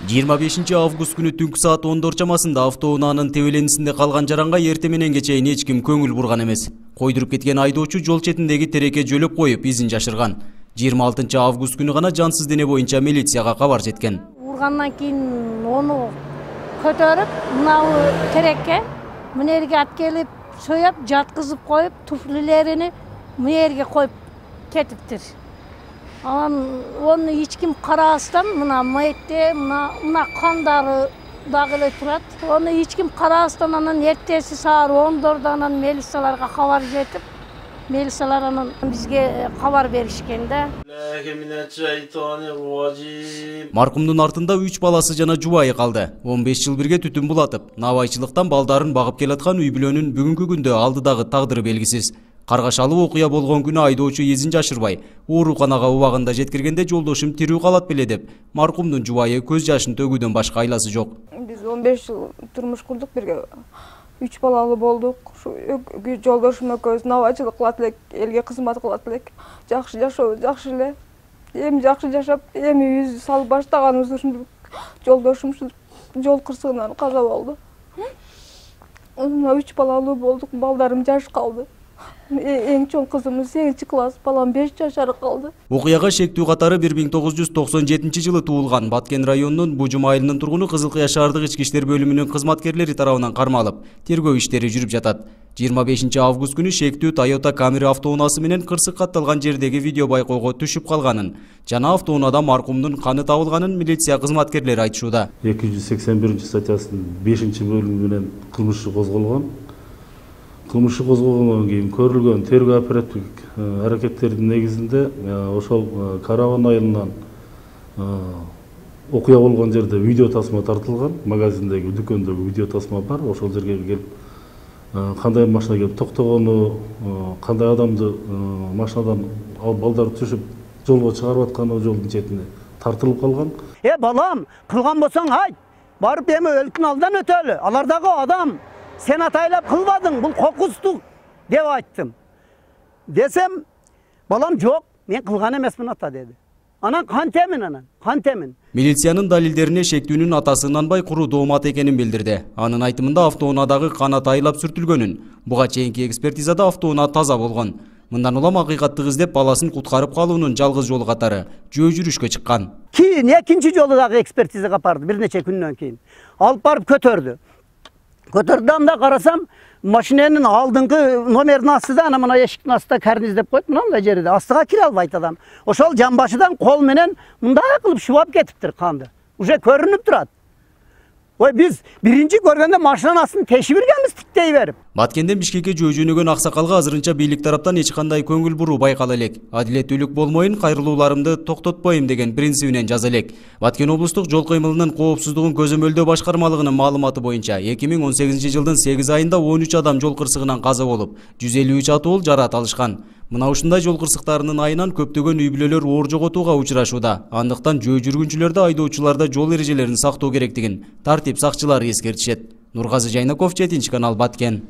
25 август күнү түнкү саат 10 чамасында автоунаанын тебеленисинде калган жаранга эрте мененге чейин эч ким көңүл бурган эмес. Койдуруп кеткен айдоочу жол четиндеги тереке жөлөп коюп изин жашырган. 26 август күнү гана жансыз дене боюнча милицияга кабар жеткен. Ургандан кийин ону көтөрүп, мынау тереке мынерге алып келип, союп, жаткызып коюп, туфлилерини мынерге коюп кетиптир. Onu hiç kim karastan, mına mayette, mına kandары dagı ele turat. Onu hiç kim karastan anan ertesi saat 14'dan melisalarga haber jetip, melisalar anan bizge haber berişkende. Markumdun артында 3 баласы жана жубайы калды. 15 жыл бирге түтүн булатып, навайчылыктан балдарын багып келаткан үй бүлөнүн бүгүнкү күндө алдыдагы тагдыры белгисиз. Каргашалуу окуя болгон күнү айдоочу изин жашырбай, ооруканага убагында жеткиргенде жолдошум тирүү калат беле деп, маркумдун жубайы көз жашын төгүүдөн башка айласы жок. Биз 15 жыл турмуш курдук бирге. 3 балалуу болдук. Жолдошум экөөбүз навайчылык кылат элек, элге кызмат кылат элек. Жакшы жашоо, жакшы эле. Эми жакшы жашап, эми үз салып баштаганыбыз ушунтип жолдошум жол кырсыгынан каза болду. 3 балалуу болдук, балдарым жаш калды. Эң чоң кызымыз 8 класс, балам 5 жашар калды. Окуяга шектүү катары 1997-жылы туулган Баткен районунун Бужум айылынын тургуну Кызыл Кыя шаардык ички иштер бөлүмүнүн кызматкерлери тарабынан кармалып, тергөө иштери жүрүп жатат. 25 август күнү шектүү Toyota Camry автоунаасы менен кырсык катталган жердеги видео байкоого түшүп калганын жана автоунаада маркумдун каны табылганын милиция кызматкерлери айтышууда. 281-статьясынын 5-бөлүмү менен кылмыш козголгон. Кылмыш козголгондон кийин көрүлгөн тергөө оперативдик аракеттердин негизинде ошол Караван айылынан окуя болгон жерде видео тасма тартылган, магазиндеги дүкөндөгү видео тасма бар. Ошол жерге келип кандай машина келип токтогону, кандай адамды машинадан алып балдарды түшүп жолго чыгарып атканы жолдун четине тартылып калган. Балам, кылган болсоң айт. Барып эми өлкүн алдан өтөлү. Алар дагы адам. Sen ataylap kılmadın, bu kokustuk деп ayttım. Desem, balam жоқ, men kılgan emesmin ata dedi. Anan kan temin. Милициянын далилдерине шектүүнүн атасы Нанбай куру доомат экенин билдирди. Анын айтымында автоунаадагы кан атайлап сүртүлгөнүн, буга чейинки экспертизада автоунаа таза болгон. Мындан улам акыйкатты издеп баласын куткарып калуунун жалгыз жолу катары жөө жүрүшкө чыккан. Кийин экинчи жолу дагы экспертизага барды, бир нече күндөн кийин. Алып барып көтөрдү. Көтөрдүмда карасам, машинанын алдыңкы номердин астында, ана мына эшиктин астында карниздеп коюп, мындай жерде астыга кире албайт адам. Ошол жамбашыдан кол менен мындай кылып шубап кетиптир канды. Уже көрүнүп турат. Ой, биз биринчи көргөндө машинанын астын тешип иргенбиз тиктей берип. Баткенден Бишкекке жөө жөнөгөн аксакалга азырынча бийлик тараптан эч кандай көңүл буруу байкала элек. Адилеттүүлүк болмоюн, кайрылууларымды токтотпойм деген принцибинен жаза элек. Баткен облустук жол кыймылынын коопсуздугун көзөмөлдөө башкармалыгынын маалыматы боюнча 2018-жылдын 8 айында 13 адам жол кырсыгынан каза болуп, 153 атуул жараат алышкан. Мына ушундай жол кырсыктарынын айынан көптөгөн үй бүлөлөр оор жоготууга учурашууда. Андыктан жөө жүргүнчүлөрдө айдоочуларда жол эрежелерин сактоо керектигин тартип сакчылары эскертишет. Нургазы Жайнаков, 7 канал, Баткен.